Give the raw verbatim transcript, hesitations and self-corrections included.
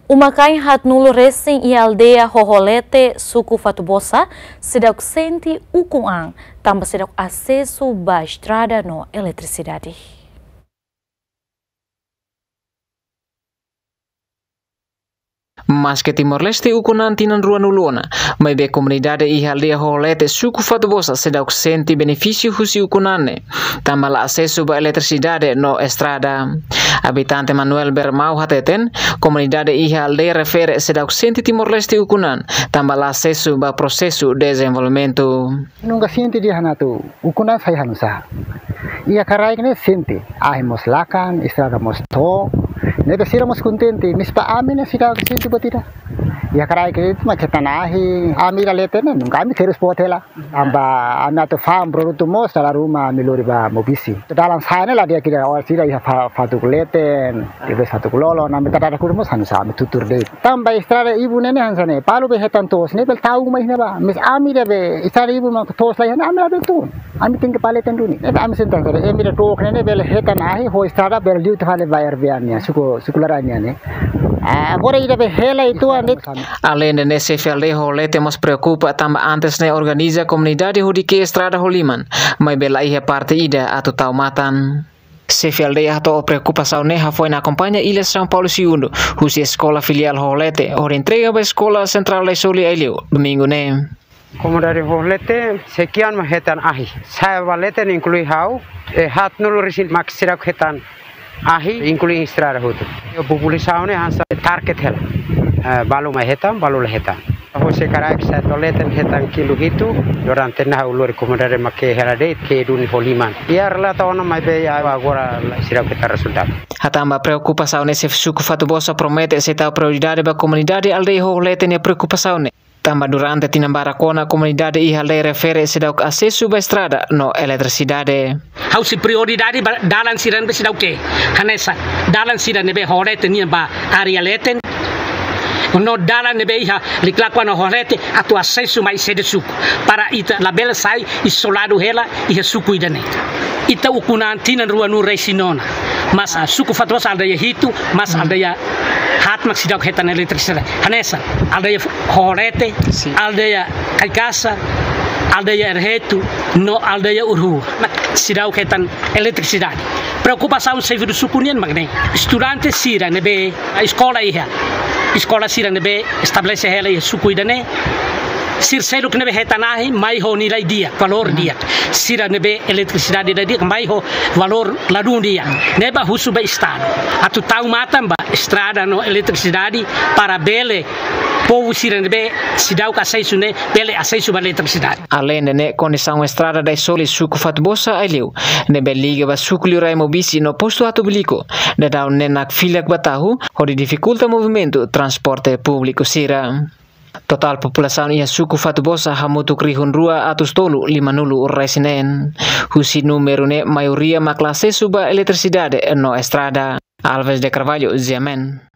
Uma-kain haatnulu resin iha aldeia Hoholete, suku Fatubosa, seidauk sente ukun-an, tanba seidauk asesu ba estrada no eletrisidade. Maske Timor-Leste ukun-an tinan ruanulu ona, maibé komunidade iha aldeia Hoholete, suku Fatubosa, seidauk sente benefísiu husi ukun-an ne'e, tanba la asesu ba eletrisidade no estrada. Abitante Manuel Bermau hateten, komunidade iha aldeia refere seidauk sente Timor-Leste ukun-an, tanba la asesu ba prosesu dezenvolvimentu. Nunka sente dehan atu ukun-an sai hanusá. Iha Karaik ne'e sente, ahi mós lakan, estrada mós to'o. Ne'ebé sira mós kontente, maibé ami ne'e seidauk sente buat ida. Iha Karaik ne'e mak hetan ahi, ami iha leten ne'e, nunka ami terus buat hela. Tanba ami atu fa'an produtu mós, dala ruma ami lori ba Maubisse. Dalan sa'e ne'e la di'ak ida, orsida iha fa-, fatuk leten, depois fatuk lolon, ami tadada kuru mós hanusá, ami tutur de'it. Tanba estrada ibun ne'e hanesan ne'e, balu be hetan to'os ne'e bele tau mai ne'ebá. Maibé ami ida be estrada ibun mak to'os la iha ne'e, ami labele tun. Ami tenke ba leten duni. Ne'ebé ami sente hanesan ne'e, ami ida to'ok ne'e bele hetan ahi, ho estrada bele liu tiha fali ba R B A nian, suku, suku laran nian ne'e. Ah, agora ida be hela uitoan ne'e. Aleinde ne'e, xefe aldeia Hoholete mós preokupa tanba antes ne'e organiza komunidade hodi ke'e estrada ho liman, maibé la iha parte ida atu tau matan. Xefe aldeia hato'o preokupasaun ne'e hafoin akompaña Ilha São Paulo Segundo, husi eskola filiál Hoholete, hodi entrega ba eskola sentrál Daisoli Aileu, domingu ne'e. Komunidade Hoholete, sei ki'an mak hetan ahi. Sa'e ba leten inklui ha'u, eh, haatnulu resin mak seidauk hetan ahi, inklui estrada hotu. Iha populasaun ne'e hanesan target hela. Eh, balu mak hetan, balu la hetan. Ho se Karaik sa'e to'o leten hetan kilu hitu, durante ne'e ha'u lori komunidade mak ke'e hela de'it, ke'e duni ho liman. Iha relata ona maibé agora la seidauk hetan rezultadu. Hatán ba preokupasaun ne'e, xefe suku Fatubosa promete sei tau prioridade ba komunidade aldeia Hoholete nia preokupasaun ne'e. Tanba durante tinan barak ona komunidade iha aldeia refere seidauk asesu ba estrada no eletrisidade. Ha'u sei prioridade ba dalan sira ne'ebé seidauk ke'e. Hanesan dalan sira ne'ebé Hoholete nian ba área leten. No dalan ne'ebé iha Liklakua no Hoholete atu asesu mai sede suku. Para ita labele sai izoladu hela iha suku ida-ne'e. Ita ukun-an tinan ruanulu resin ona. Maibé, ah, suku Fatubosa aldeia hitu, maibé aldeia haat mak seidauk hetan eletrisidade. Hanesan aldeia Hoholete, aldeia Kaikasa, aldeia Erhetu, no aldeia Urrua. Mak seidauk hetan eletrisidade. Preokupasaun xefe suku nian mak ne'e. Estudante sira ne'ebé eskola iha. Eskola sira ne'ebé estabelese hela iha suku ida-ne'e. Sira seluk ne'ebé hetan ahi, mai ho nilai di'ak, valór di'ak. Sira ne'ebé eletrisidade la di'ak, mai ho valór ladún di'ak. Ne'ebé husu ba Estadu atu tau matan ba estrada no eletrisidade para bele povu sira ne'ebé seidauk asesu ne'e bele asesu ba eletrisidade. Aleinde ne'e, kondisaun estrada Daisoli suku Fatubosa Aileu, ne'ebé liga ba suku liurai Maubisse no postu Atu Biliku, daudaun ne'e nakfilak ba tahu, hodi difikulta movimentu transporte públiku sira. Totál populasaun iha suku Fatubosa hamutuk rihun rua atus tolu limanulu resin neen. Husi númeru ne'e maioria mak la asesu ba eletrisidade no estrada. Alves de Carvalho, G M N.